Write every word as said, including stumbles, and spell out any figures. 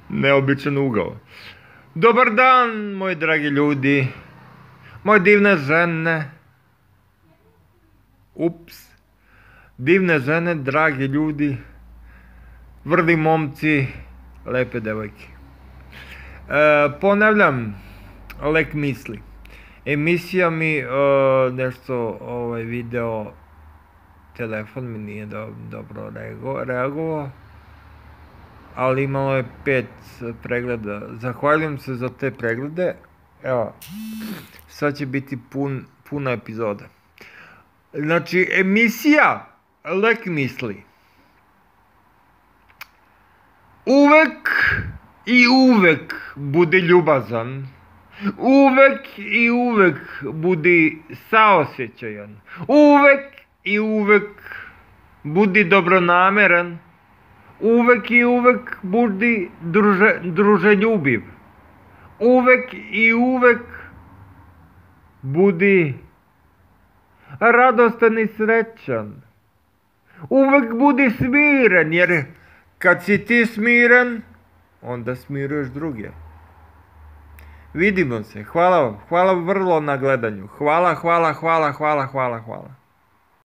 Neobičan ugao. Dobar dan, moji dragi ljudi, moje divne žene. Ups. Divne žene, dragi ljudi, vrli momci, lepe devojke. E, ponavljam, lek misli. Emisija mi e, nešto, ovaj video, telefon mi nije do, dobro reago, reagovao, ali imalo je pet pregleda. Zahvaljujem se za te preglede. Evo, sad će biti pun, puna epizoda. Znači, emisija Lek misli. Uvek i uvek budi ljubazan. Uvek i uvek budi saosjećajan. Uvek i uvek budi dobronameran. Uvek i uvek budi druže, druželjubiv. Uvek i uvek budi radostan i srećan. Uvek budi smiren, jer kad si ti smiren, onda smiruješ druge. Vidimo se. Hvala vam. Hvala vrlo na gledanju. Hvala, hvala, hvala, hvala, hvala, hvala.